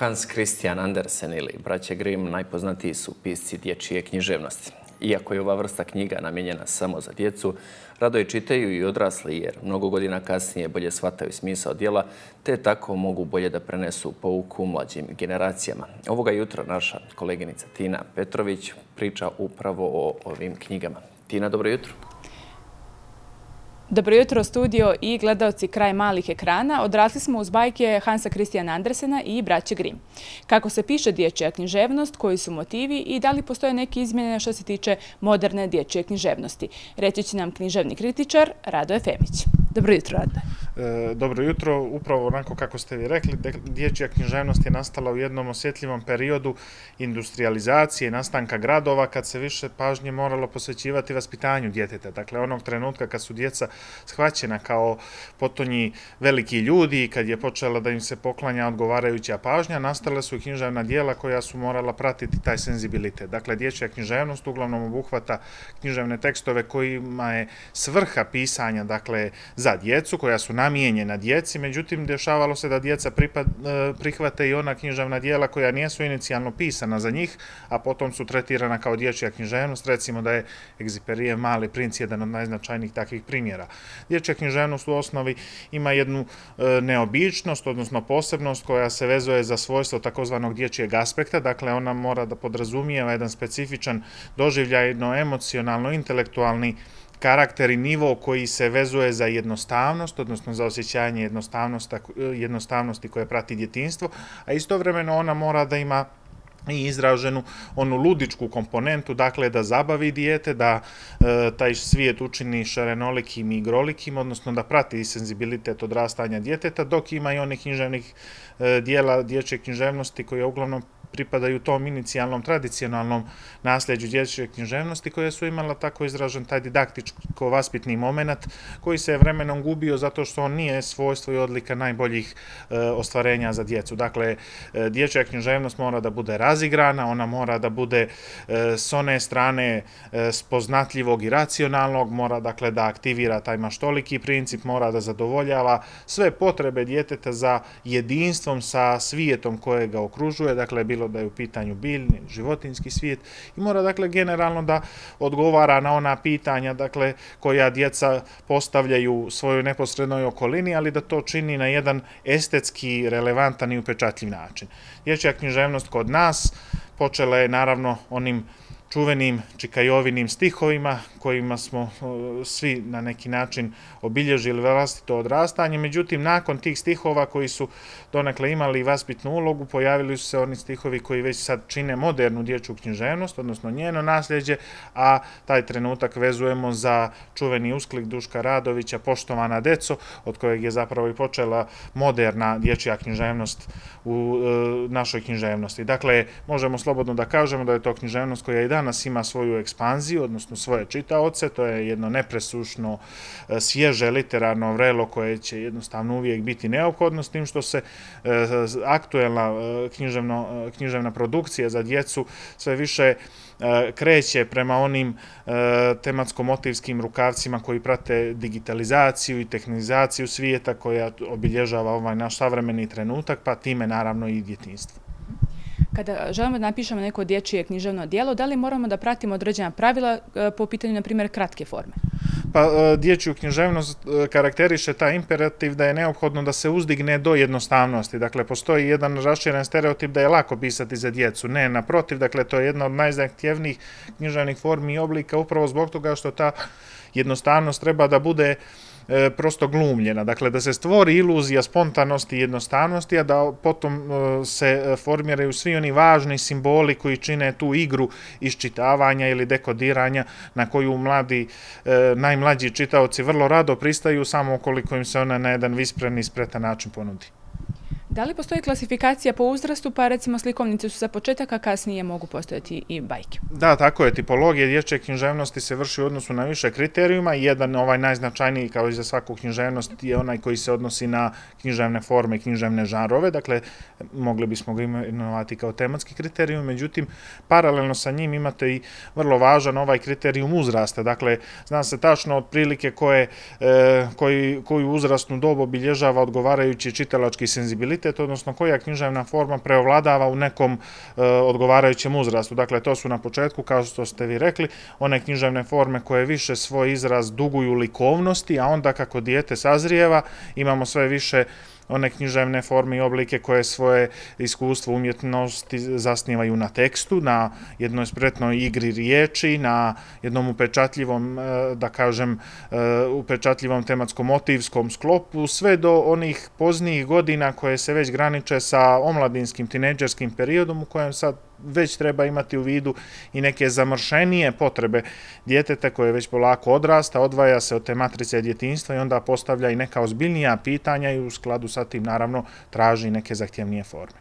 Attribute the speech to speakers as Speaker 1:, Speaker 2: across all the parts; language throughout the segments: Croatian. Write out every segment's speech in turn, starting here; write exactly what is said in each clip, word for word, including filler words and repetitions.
Speaker 1: Hans Christian Andersen ili braće Grimm najpoznatiji su pisci dječje književnosti. Iako je ova vrsta knjiga namijenjena samo za djecu, rado je čitaju i odrasli jer mnogo godina kasnije bolje shvataju smisao djela, te tako mogu bolje da prenesu pouku mlađim generacijama. Ovoga jutra naša koleginica Tina Petrović priča upravo o ovim knjigama. Tina, dobro jutro.
Speaker 2: Dobro jutro, studio i gledaoci kraj malih ekrana. Odrasli smo uz bajke Hansa Christiana Andersena i braće Grimm. Kako se piše dječja književnost, koji su motivi i da li postoje neke izmjene što se tiče moderne dječje književnosti? Reći će nam književni kritičar Radoje Femić. Dobro jutro, Radoje.
Speaker 3: E, dobro jutro. Upravo onako kako ste vi rekli, dječja književnost je nastala u jednom osjetljivom periodu industrializacije, nastanka gradova, kad se više pažnje moralo posvećivati vaspitanju djeteta. Dakle, onog trenutka kad su djeca shvaćena kao potonji veliki ljudi, kad je počela da im se poklanja odgovarajuća pažnja, nastale su književna djela koja su morala pratiti taj senzibilitet. Dakle, dječja književnost uglavnom obuhvata književne tekstove kojima je svrha pisanja, dakle, za djecu, koja su namijenjena djeci, međutim, dešavalo se da djeca pripad, prihvate i ona književna djela koja nisu inicijalno pisana za njih, a potom su tretirana kao dječja književnost. Recimo da je Egziperijev Mali princ jedan od najznačajnijih takvih primjera. Dječja književnost u osnovi ima jednu e, neobičnost, odnosno posebnost koja se vezuje za svojstvo takozvanog dječjeg aspekta. Dakle, ona mora da podrazumijeva jedan specifičan doživljajno, emocionalno, intelektualni karakter i nivo koji se vezuje za jednostavnost, odnosno za osjećanje jednostavnosti, jednostavnosti koje prati djetinjstvo, a istovremeno ona mora da ima i izraženu onu ludičku komponentu, dakle da zabavi dijete, da e, taj svijet učini šarenolikim i igrolikim, odnosno da prati senzibilitet odrastanja djeteta, dok ima i onih književnih e, dijela dječje književnosti koje uglavnom pripadaju tom inicijalnom tradicionalnom nasljeđu dječje književnosti koje su imala tako izražen taj didaktičko-vaspitni moment koji se vremenom gubio zato što on nije svojstvo i odlika najboljih e, ostvarenja za djecu. Dakle, e, dječja književnost mora da bude razigrana, ona mora da bude e, s one strane e, spoznatljivog i racionalnog, mora dakle da aktivira taj maštoliki princip, mora da zadovoljava sve potrebe djeteta za jedinstvom sa svijetom koje ga okružuje, dakle bilo da je u pitanju biljni, životinjski svijet, i mora dakle generalno da odgovara na ona pitanja dakle koja djeca postavljaju svojoj neposrednoj okolini, ali da to čini na jedan estetski relevantan i upečatljiv način. Dječja književnost kod nas počela je naravno onim čuvenim Čikajovinim stihovima kojima smo svi na neki način obilježili vlastito odrastanje. Međutim, nakon tih stihova koji su donekle imali vaspitnu ulogu, pojavili su se oni stihovi koji već sad čine modernu dječju književnost, odnosno njeno nasljeđe, a taj trenutak vezujemo za čuveni usklik Duška Radovića Poštovana deco, od kojeg je zapravo i počela moderna dječja književnost u e, našoj književnosti. Dakle, možemo slobodno da kažemo da je to književnost koja i danas ima svoju ekspanziju, odnosno svoje čitaoce. To je jedno nepresušno, svježe literarno vrelo koje će jednostavno uvijek biti neophodno, s tim što se e, aktuelna e, književno, književna produkcija za djecu sve više e, kreće prema onim e, tematsko-motivskim rukavcima koji prate digitalizaciju i tehnizaciju svijeta koja obilježava ovaj naš savremeni trenutak, pa time naravno i djetinjstvo.
Speaker 2: Kada želimo da napišemo neko dječje književno djelo, da li moramo da pratimo određena pravila po pitanju, na primjer, kratke forme?
Speaker 3: Pa dječju književnost karakteriše taj imperativ da je neophodno da se uzdigne do jednostavnosti. Dakle, postoji jedan raširen stereotip da je lako pisati za djecu. Ne, naprotiv, dakle, to je jedna od najzahtjevnijih književnih formi i oblika upravo zbog toga što ta jednostavnost treba da bude e, prosto glumljena. Dakle, da se stvori iluzija spontanosti i jednostavnosti, a da potom e, se formiraju svi oni važni simboli koji čine tu igru iščitavanja ili dekodiranja na koju mladi, e, najmlađi čitaoci vrlo rado pristaju samo ukoliko im se ona na jedan vispren i spretan način ponudi.
Speaker 2: Da li postoji klasifikacija po uzrastu, pa recimo slikovnice su za početak, a kasnije mogu postojati i bajke?
Speaker 3: Da, tako je. Tipologija dječje književnosti se vrši u odnosu na više kriterijuma. Jedan, ovaj najznačajniji kao i za svaku književnost, je onaj koji se odnosi na književne forme i književne žanrove. Dakle, mogli bismo ga imenovati kao tematski kriterijum. Međutim, paralelno sa njim imate i vrlo važan ovaj kriterijum uzrasta. Dakle, zna se tačno otprilike koje, e, koji, koju uzrasnu dobu obilježava odgovarajući čitalački senzibilitet kvalitet, odnosno koja književna forma preovladava u nekom odgovarajućem uzrastu. Dakle, to su na početku, kao što ste vi rekli, one književne forme koje više svoj izraz duguju likovnosti, a onda kako dijete sazrijeva, imamo sve više one književne forme i oblike koje svoje iskustvo umjetnosti zasnivaju na tekstu, na jednoj spretnoj igri riječi, na jednom upečatljivom, da kažem, upečatljivom tematsko-motivskom sklopu, sve do onih poznijih godina koje se već graniče sa omladinskim, tinejdžerskim periodom u kojem sad već treba imati u vidu i neke zamršenije potrebe djeteta koje već polako odrasta, odvaja se od te matrice djetinjstva i onda postavlja i neka ozbiljnija pitanja i u skladu sa tim naravno traži neke zahtjevnije forme.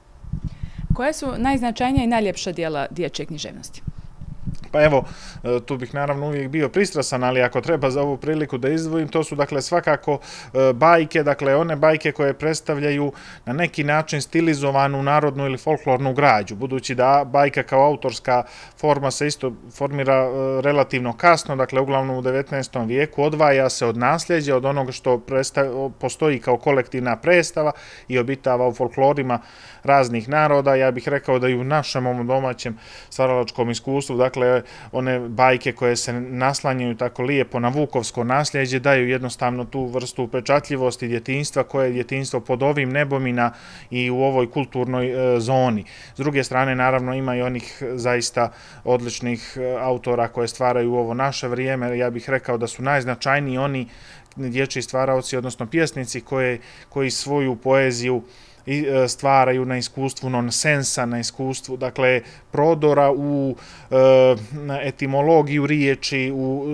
Speaker 2: Koje su najznačajnija i najljepša dijela dječje književnosti?
Speaker 3: Pa evo, tu bih naravno uvijek bio pristrasan, ali ako treba za ovu priliku da izdvojim, to su dakle svakako bajke, dakle one bajke koje predstavljaju na neki način stilizovanu narodnu ili folklornu građu, budući da bajka kao autorska forma se isto formira relativno kasno, dakle uglavnom u devetnaestom vijeku, odvaja se od nasljeđa, od onoga što postoji kao kolektivna predstava i obitava u folklorima raznih naroda. Ja bih rekao da i u našem ovom domaćem stvaralačkom iskustvu, dakle one bajke koje se naslanjaju tako lijepo na vukovsko nasljeđe daju jednostavno tu vrstu upečatljivosti djetinjstva koje je djetinjstvo pod ovim nebom i u ovoj kulturnoj zoni. S druge strane, naravno, ima i onih zaista odličnih autora koje stvaraju u ovo naše vrijeme. Ja bih rekao da su najznačajniji oni dječji stvaraoci, odnosno pjesnici koji svoju poeziju stvaraju na iskustvu nonsensa, na iskustvu, dakle, prodora u etimologiju riječi, u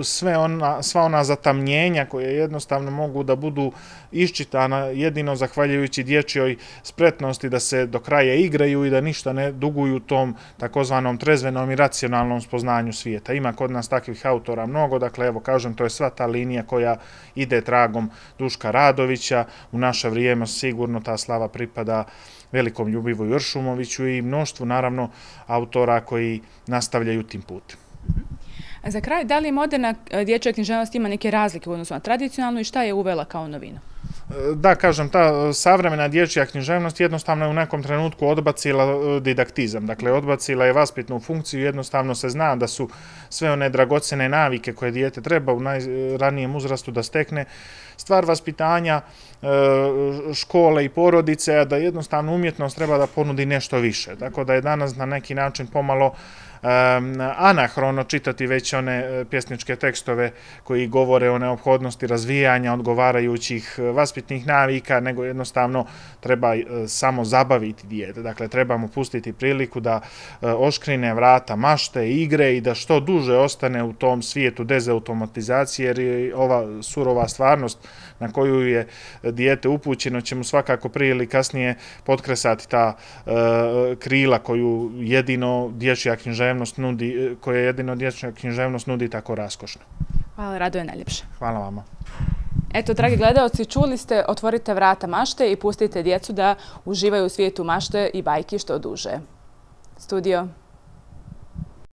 Speaker 3: sva ona zatamnjenja koje jednostavno mogu da budu iščitana jedino zahvaljujući dječjoj spretnosti da se do kraja igraju i da ništa ne duguju tom takozvanom trezvenom i racionalnom spoznanju svijeta. Ima kod nas takvih autora mnogo, dakle, evo kažem, to je sva ta linija koja ide tragom Duška Radovića. U naše vrijeme sigurno ta slava pripada velikom Ljubivoju Ršumoviću i mnoštvu, naravno, autora koji nastavljaju tim putem.
Speaker 2: Za kraj, da li moderna dječja književnost ima neke razlike u odnosu na tradicionalnu i šta je uvela kao novinu?
Speaker 3: Da, kažem, ta savremena dječja književnost jednostavno je u nekom trenutku odbacila didaktizam, dakle odbacila je vaspitnu funkciju, jednostavno se zna da su sve one dragocene navike koje dijete treba u najranijem uzrastu da stekne, stvar vaspitanja škole i porodice, a da jednostavno umjetnost treba da ponudi nešto više, tako da je danas na neki način pomalo anahrono čitati već one pjesničke tekstove koji govore o neophodnosti razvijanja odgovarajućih vaspitnih navika, nego jednostavno treba samo zabaviti dijete. Dakle, treba mu pustiti priliku da oškrine vrata mašte, igre i da što duže ostane u tom svijetu dezautomatizacije, jer je ova surova stvarnost na koju je dijete upućeno će mu svakako prije ili kasnije potkresati ta krila koju jedino dječja književnost nudi, koje jedino dječja književnost nudi tako raskošno.
Speaker 2: Hvala, Radoje, najljepše.
Speaker 3: Hvala vama.
Speaker 2: Eto, dragi gledalci, čuli ste, otvorite vrata mašte i pustite djecu da uživaju u svijetu mašte i bajki što duže. Studio.